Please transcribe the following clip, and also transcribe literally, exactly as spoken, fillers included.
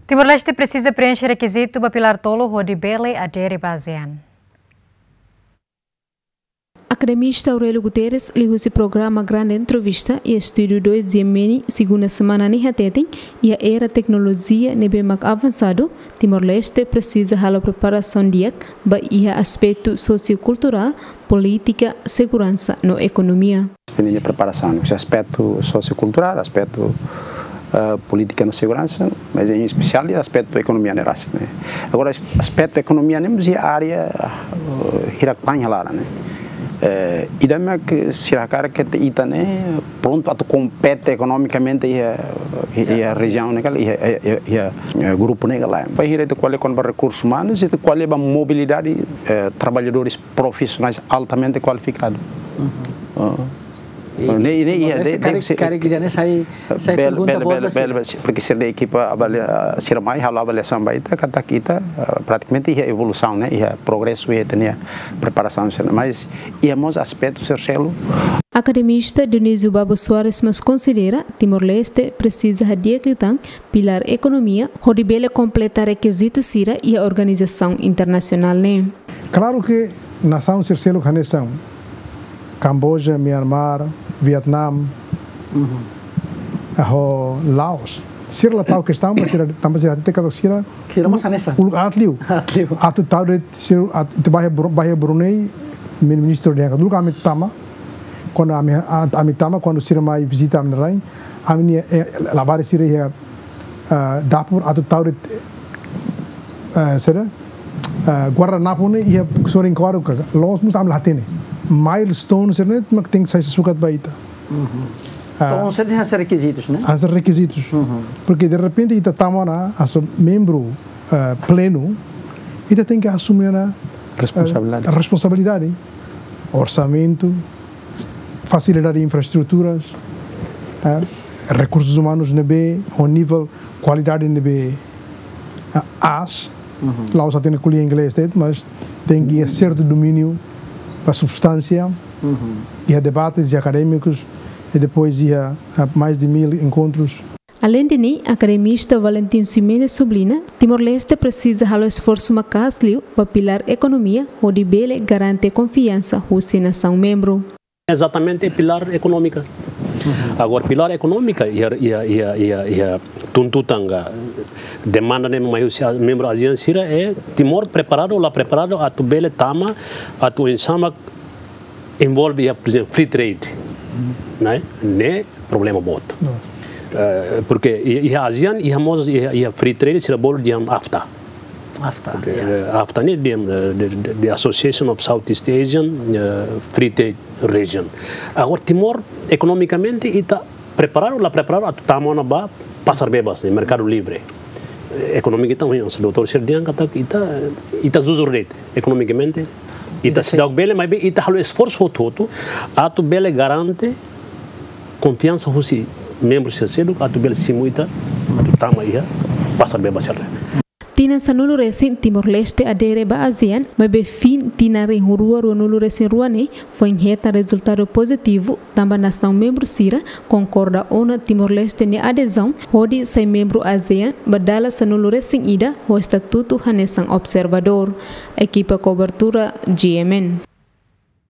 Timor-Leste presiza preenxe rekizitu ba pilár tolu hodi bele adere ba ASEAN. Akademista Aurélio Guterres, liuhusi programa Grande Entrevista iha Estúdiu dois G M N, segunda semana ne'e hateten, iha era teknolojia ne'ebé mak avansadu, Timor-Leste presiza halo preparasaun di'ak ba iha aspetu sosiokulturál, polítika, seguransa no ekonomia. Ita-nia preparasaun, husi aspetu sosiokulturál, aspetu, eh, polítika no seguransa, mas em espesiál iha aspetu ekonomia ne'e rasik, ne'e. Agora, as-, aspetu ekonomia ne'e mós iha área, eh, hirak tan iha laran, ne'e. Eh, ida-ne'e mak sira hakarak katak ita ne'e prontu atu kompete ekonomikamente iha, iha, iha rejiaun ne'e ka lae, iha, iha, iha, iha, eh, grupu ne'e ka lae. Bainhira ita ko'alia kona-ba rekursus umanus, ita ko'alia ba mobilidade, eh, trabalhadores profisionais altamente kualifikadu. Uhum. Ah. I ne'e, ne'e, Timor-Leste, ne'e, karik, ne'e, karik ida-ne'e sai, sai bele, pergunta bele, boot bele, ba sira. Bele, bele, porque sira-nia ekipa avalia, sira mai halo avaliasaun ba ita, katak ita, ah, pratikamente iha evolusaun, ne'e, iha progresu iha ita-nia preparasaun sira-ne'e. Mas iha mós aspetu sira seluk. Akademista Dionísio Babo Soares mós konsidera Timor-Leste presiza hadi'ak liután pilár ekonomia, hodi bele kompleta rekizitu sira iha organizasaun internasionál ne'e. Klaru ke nasaun sira seluk hanesan Kamboja, Myanmar, Vietnam, uhum, ho Laos, sira la tau kestaun, mas sira, tanba sira hatete katak sira, sira mós hanesan, uluk aat liu. Aat liu. Atu tau de'it sira, atu, ita bá iha Bru-, bá iha Brunei, min-, ministru dehan katak uluk ami tama, kuandu ami, a-, ami tama, kuandu sira mai vizita ami-nia rain, ami-nia, eh, labarik sira iha, ah, dapur atu tau de'it, eh, saida, ah, guardanapu ne'e iha sorin kuadru ka, loos mós ami la hatene. Milestone sira-ne'e mak tenke sai sukat ba ita. Uhum. Ah. Entaun, sira hanesan rekizitus, ne'e? Hanesan rekizitus. Uhum. Porque de repente ita tama ona hanesan membru, ah, plenu, ita tenke asume ona, ah, responsabilidade. Responsabilidade. Orsamentu, fasilidade infraestruturas, eh, rekursus umanus ne'ebé ho nivel kualidade ne'ebé, eh, aas. Uhum. La'ós atu hatene ko'alia inglés de'it, mas tenke iha sertu domíniu ba substánsia. Uhum. Iha debates, iha akadémikus, i depois iha, eh, mais de mil enkontrus. Aleinde ne'e, akademista Valentin Ximenes subliña, Timor-Leste presiza halo esforsu maka'as liu ba pilár ekonomia, hodi bele garante konfiansa husi nasaun membru. Ezatamente, pilár ekonómika. Agora, pilár ekonómika, iha, iha, iha, iha, iha tuntutan ka demanda ne'e mai husi membru ASEAN sira, é Timor preparadu ou la preparadu atu bele tama, atu oinsá mak envolve iha, por exemplo, free trade, ne'e? Ne'e problema boot. Não. Eh, porque i-, iha ASEAN, iha mós, iha, iha free trade, sira bolu dehan AFTA. AFTA, ya. Eh, AFTA ne'e dehan, eh, the, the, the Association of Southeast Asian, eh, Free Trade Region. Agora, Timor, ekonomikamente, ita preparadu, la preparadu, atu tama ona ba pasar bebas, ne'e, merkadu livre. Eh, ekonomia ita, hanesan doutór sira dehan katak ita, ita jujur de'it, ekonomikamente, ita seidauk bele, maibé ita halo esforsu hotu-hotu, atu bele garante konfiansa husi membru sira seluk, atu bele simu ita, atu tama iha pasar bebas sira. Tinan sanulu resin Timor-Leste adere ba ASEAN, maibé fin tinan rihun rua ruanulu resin rua ne'e, foin hetan rezultadu pozitivu, tanba nasaun membru sira konkorda ona Timor-Leste nia adezaun, hodi sai membru ASEAN ba dala sanulu resin ida, ho estatutu hanesan observadór. Ekipa kobertura G M N.